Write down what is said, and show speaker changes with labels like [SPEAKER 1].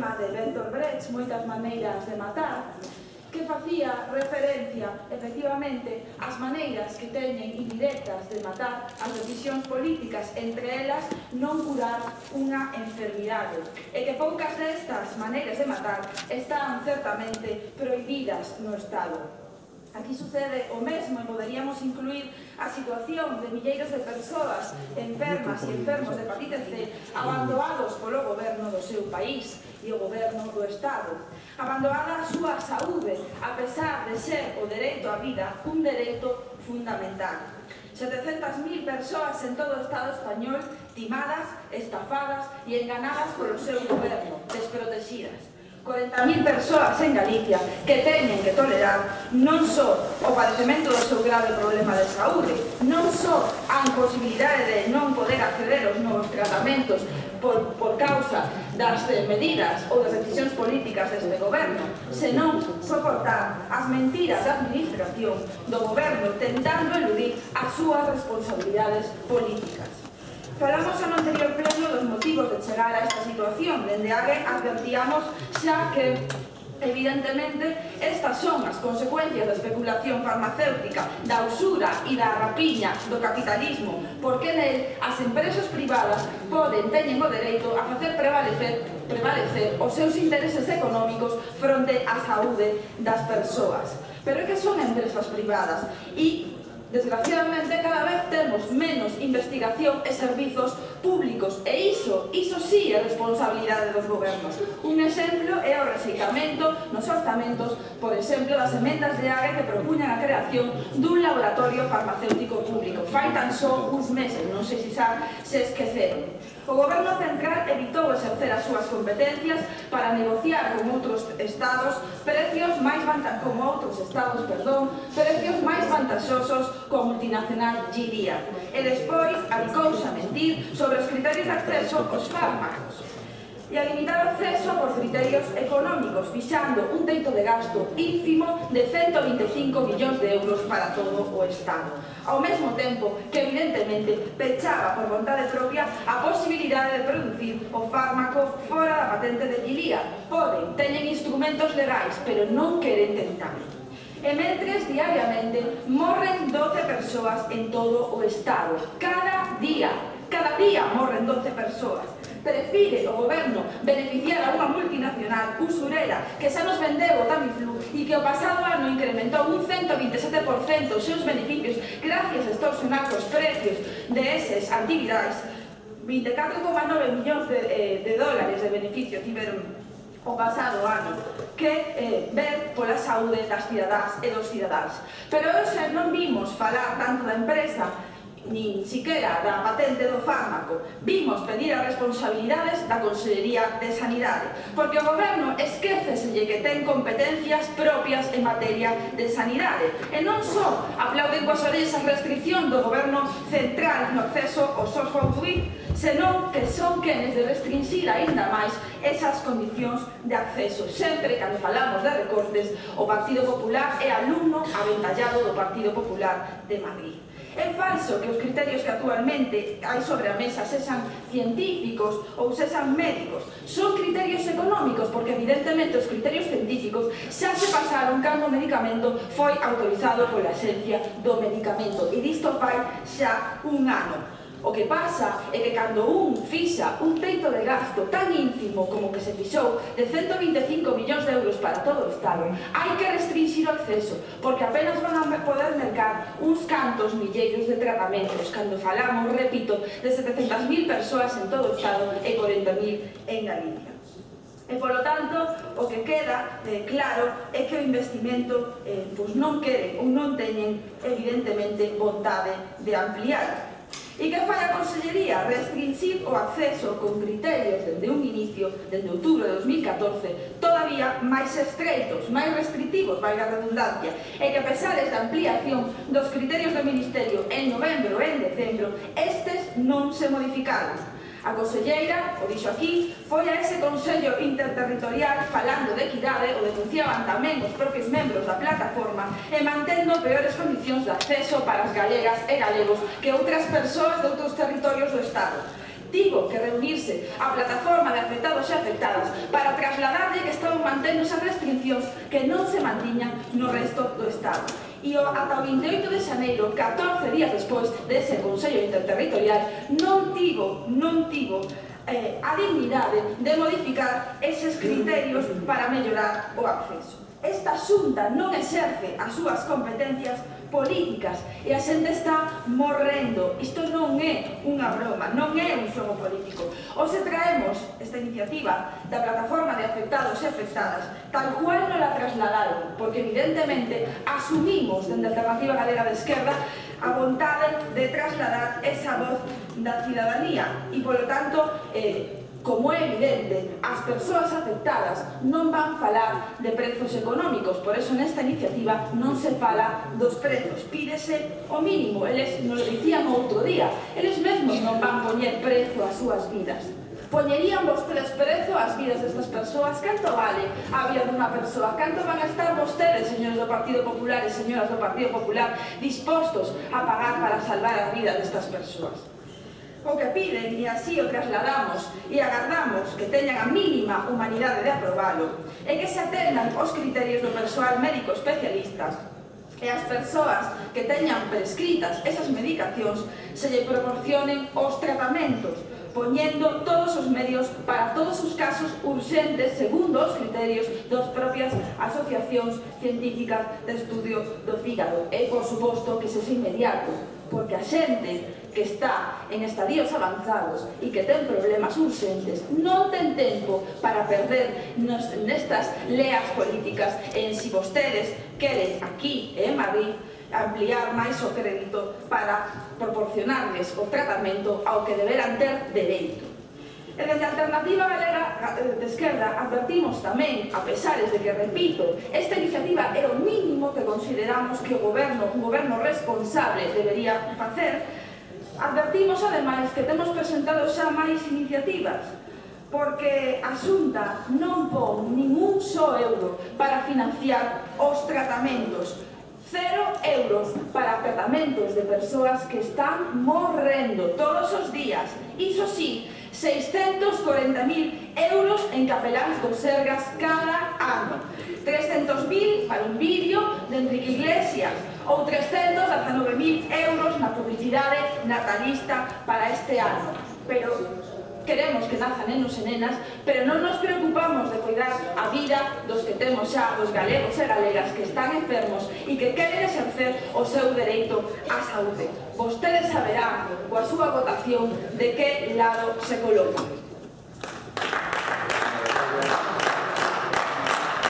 [SPEAKER 1] poema de Bertolt Brecht, Moitas maneiras de matar, que facía referencia, efectivamente, ás maneiras que teñen indirectas de matar as decisións políticas, entre elas non curar unha enfermidade, e que poucas destas maneiras de matar están certamente prohibidas no Estado. Aquí sucede o mesmo e poderíamos incluir a situación de milleiros de persoas enfermas e enfermos de hepatite C abandonados polo goberno do seu país e o goberno do Estado. Abandonada a súa saúde, a pesar de ser o dereito á vida un dereito fundamental. 700.000 persoas en todo o Estado español timadas, estafadas e enganadas polo seu goberno, desprotegidas. 40.000 persoas en Galicia que teñen que tolerar non só o padecemento do seu grave problema de saúde, non só a imposibilidade de non poder acceder aos novos tratamentos por causa das medidas ou das decisións políticas deste goberno, senón soportar as mentiras da administración do goberno tentando eludir as súas responsabilidades políticas. Falamos no anterior pleno dos motivos de chegar a esta situación. Dende AGE advertíamos xa que, evidentemente, estas son as consecuencias da especulación farmacéutica, da usura e da rapiña do capitalismo, porque nel as empresas privadas teñen o dereito a facer prevalecer os seus intereses económicos fronte á saúde das persoas. Pero é que son empresas privadas e, desgraciadamente, cada vez temos menos investigación e servizos públicos, e iso sí é responsabilidade dos gobernos. Un exemplo é o rexeitamento nos orzamentos, por exemplo, das emendas de AGE que propuñan a creación dun laboratorio farmacéutico público. Fai tan só uns meses, non sei se esqueceron. O goberno central evitou exercer as súas competencias para negociar con outros estados precios máis vantaxosos coa multinacional Gilead. E despois adicouse a mentir sobre os criterios de acceso aos fármacos e a limitar o acceso por criterios económicos, fixando un teito de gasto ínfimo de 125 millóns de euros para todo o Estado. Ao mesmo tempo que, evidentemente, pechaba por vontade propia a posibilidade de producir o fármaco fora da patente de Gilead. Teñen instrumentos legais, pero non queren tentarlo. E mentres, diariamente, morren 12 persoas en todo o Estado. Cada día morren 12 persoas. Prefire o goberno beneficiar a unha multinacional usurera que xa nos vendeu o Tamiflu e que o pasado ano incrementou un 127% os seus beneficios gracias a extorsionar os precios de esas actividades. 24,9 millóns de dólares de beneficio tiveron o pasado ano que ver pola saúde das cidadás e dos cidadáns. Pero hoxe non vimos falar tanto da empresa nin siquera da patente do fármaco. Vimos pedir as responsabilidades da Consellería de Sanidade, porque o goberno esquéceselle que ten competencias propias en materia de sanidade, e non só aplauden coas orellas a restricción do goberno central no acceso ao software, senón que son quenes de restringir aínda máis esas condicións de acceso. Sempre cando falamos de recortes, o Partido Popular é alumno aventallado do Partido Popular de Madrid. É falso que os criterios que actualmente hai sobre a mesa sexan científicos ou sexan médicos. Son criterios económicos, porque evidentemente os criterios científicos xa se pasaron cando o medicamento foi autorizado pola Axencia do Medicamento, e disto fai xa un ano. O que pasa é que cando un fixa un teito de gasto tan ínfimo como que se fixou de 125 millóns de euros para todo o Estado, hai que restringir o acceso, porque apenas van a poder mercar uns cantos milleiros de tratamentos, cando falamos, repito, de 700.000 persoas en todo o Estado e 40.000 en Galicia. E, polo tanto, o que queda claro é que o investimento non queren ou non teñen, evidentemente, vontade de ampliar. E que fai a Consellería? Restringir o acceso con criterios dende un inicio, dende outubro de 2014, todavía máis estreitos, máis restrictivos, vai a redundancia, e que a pesar da ampliación dos criterios do Ministerio en novembro e en decembro, estes non se modificaron. A conselleira, o dixo aquí, foi a ese Consello Interterritorial falando de equidade, o denunciaban tamén os propios membros da plataforma, e mantendo peores condicións de acceso para as galegas e galegos que outras persoas de outros territorios do Estado. Tivo que reunirse a plataforma de afectados e afectadas para manternos as restriccións que non se mantiñan no resto do Estado. E ata o 28 de xaneiro, 14 días despois dese Consello Interterritorial, non tivo a dignidade de modificar eses criterios para mellorar o acceso. Esta Xunta non exerce as súas competencias políticas e a xente está morrendo. Isto non é unha broma, non é un xogo político. Hoxe traemos esta iniciativa da plataforma de afectados e afectadas tal cual non la trasladaron, porque evidentemente asumimos dende a Alternativa Galega de Esquerda a vontade de trasladar esa voz da cidadanía e, polo tanto, como é evidente, as persoas afectadas non van falar de prezos económicos, por eso nesta iniciativa non se fala dos prezos, pídese o mínimo. Eles nos dicían outro día, eles mesmos non van poñer prezo ás súas vidas. Poñerían vostedes prezo ás vidas destas persoas? Canto vale a vida dunha persoa? Canto van a estar vostedes, señores do Partido Popular e señoras do Partido Popular, dispostos a pagar para salvar a vida destas persoas? O que piden, e así o trasladamos e agardamos que teñan a mínima humanidade de aprobalo, é que se atendan os criterios do persoal médico especialista e as persoas que teñan prescritas esas medicacións se lle proporcionen os tratamentos, poñendo todos os medios para todos os casos urxentes segundo os criterios das propias asociacións científicas de estudio do fígado. E, por suposto, que se inmediato, porque a xente que está en estadios avanzados e que ten problemas urxentes non ten tempo para perder nestas leas políticas en si vostedes queren aquí en Madrid ampliar máis o crédito para proporcionarles o tratamento ao que deberán ter dereito. E desde a Alternativa Galega de Esquerda advertimos tamén, a pesares de que, repito, esta iniciativa é o mínimo que consideramos que un goberno responsable debería facer, advertimos ademais que temos presentado xa máis iniciativas, porque a Xunta non pon ningún só euro para financiar os tratamentos. 0 euros para tratamentos de persoas que están morrendo todos os días. Iso sí, 640.000 euros en capeláns do Sergas cada ano. 300.000 para un vídeo de Enrique Iglesias ou 319.000 euros na publicidade natalista para este ano. Pero queremos que nazan nenos e nenas, pero non nos preocupamos de cuidar a vida dos que temos xa, dos galegos e galegas que están enfermos e que queren exercer o seu dereito á saúde. Vostedes saberán, coa súa votación, de que lado se colocan.